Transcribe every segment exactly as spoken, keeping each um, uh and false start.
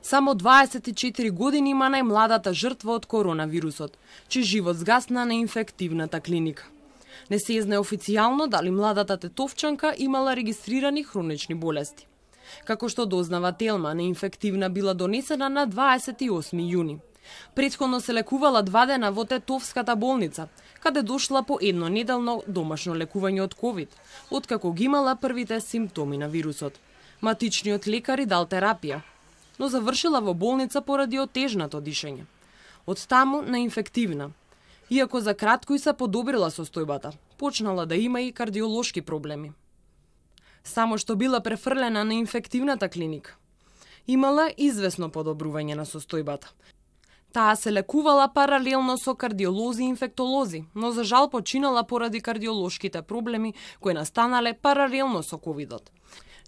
Само дваесет и четири години има најмладата жртва од коронавирусот, чиј живот згасна на инфективната клиника. Не се знае официјално дали младата тетовчанка имала регистрирани хронични болести. Како што дознава Телма, неинфективна била донесена на дваесет и осми јуни. Претходно се лекувала два дена во Тетовската болница, каде дошла по еднонеделно домашно лекување од ковид, откако ги имала првите симптоми на вирусот. Матичниот лекар и дал терапија, но завршила во болница поради отежнато дишење. Од таму на инфективна. Иако за кратко и се подобрила состојбата, почнала да има и кардиолошки проблеми. Само што била префрлена на инфективната клиника, имала извесно подобрување на состојбата. Таа се лекувала паралелно со кардиолози и инфектолози, но за жал починала поради кардиолошките проблеми кои настанале паралелно со ковидот.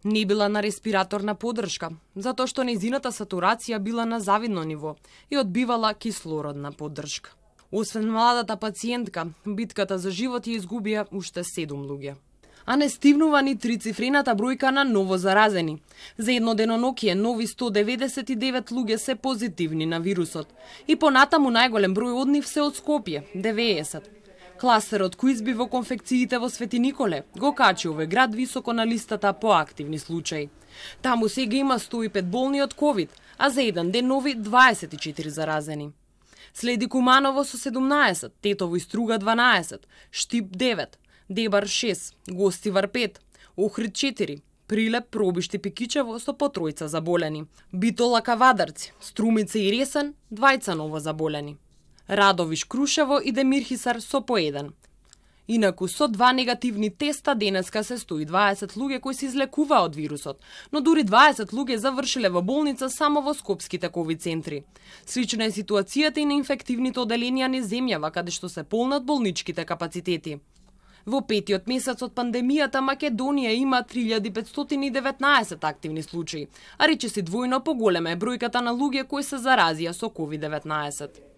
Не била на респираторна поддршка, затоа што нејзината сатурација била на завидно ниво и одбивала кислородна поддршка. Освен младата пациентка, битката за живот ја изгубија уште седум луѓе. А не стивнува ни трицифрената бројка на ново заразени. За едно денонокие нови сто деветдесет и девет луѓе се позитивни на вирусот. И понатаму најголем број од нив се од Скопје, деветдесет. Кластерот кој изби во конфекциите во Свети Николе го качи овој град високо на листата по активни случаи. Таму сега има сто и пет болни од ковид, а за еден ден нови дваесет и четири заразени. Следи Куманово со седумнаесет, Тетово и Струга дванаесет, Штип девет, Дебар шест, Гостивар пет, Охрид четири, Прилеп, Пробишти, Пикичево со по тројца заболени, Битола, Кавадарци, Струмица и Ресен, двајца ново заболени, Радовиш, Крушево и Демирхисар со по еден. Инаку со два негативни теста денеска се сто и дваесет луѓе кои се излекуваа од вирусот, но дури дваесет луѓе завршиле во болница само во скопските ковид центри. Слична е ситуацијата и на инфективните оделенија низ земјава, каде што се полнат болничките капацитети. Во петиот месец од пандемијата Македонија има три илјади петстотини и деветнаесет активни случаи, а речиси двојно поголема е бројката на луѓе кои се заразија со ковид деветнаесет.